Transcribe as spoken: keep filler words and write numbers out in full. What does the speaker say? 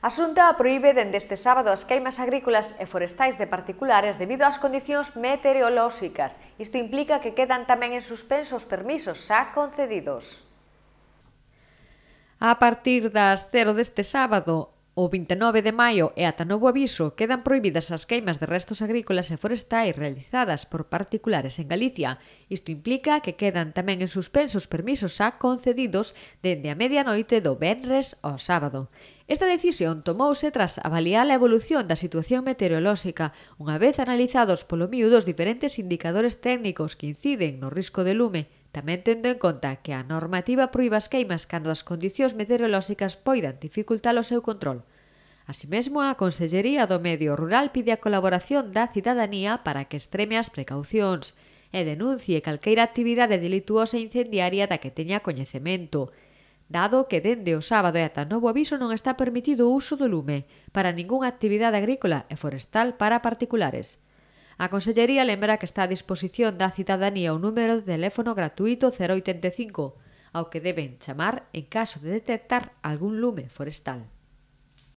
A Xunta proíbe dende este sábado as queimas agrícolas e forestais de particulares debido ás condicións meteorolóxicas. Isto implica que quedan tamén en suspenso os permisos xa concedidos. A partir das cero deste sábado, o vinte e nove de maio e ata novo aviso, quedan prohibidas as queimas de restos agrícolas e forestais realizadas por particulares en Galicia. Isto implica que quedan tamén en suspenso os permisos xa concedidos dende a medianoite do venres ao sábado. Esta decisión tomouse tras avaliar a evolución da situación meteorolóxica, unha vez analizados polo miúdo os diferentes indicadores técnicos que inciden no risco de lume, tamén tendo en conta que a normativa proíbe as queimas cando as condicións meteorolóxicas poidan dificultar o seu control. Así mesmo, a Consellería do Medio Rural pide a colaboración da cidadanía para que extreme as precaucións e denuncie calqueira actividade delituosa e incendiaria da que teña coñecemento, dado que dende o sábado e ata novo aviso non está permitido o uso do lume para ningunha actividade agrícola e forestal para particulares. A Consellería lembra que está a disposición da cidadanía un número de teléfono gratuito cero oitenta e cinco, ao que deben chamar en caso de detectar algún lume forestal.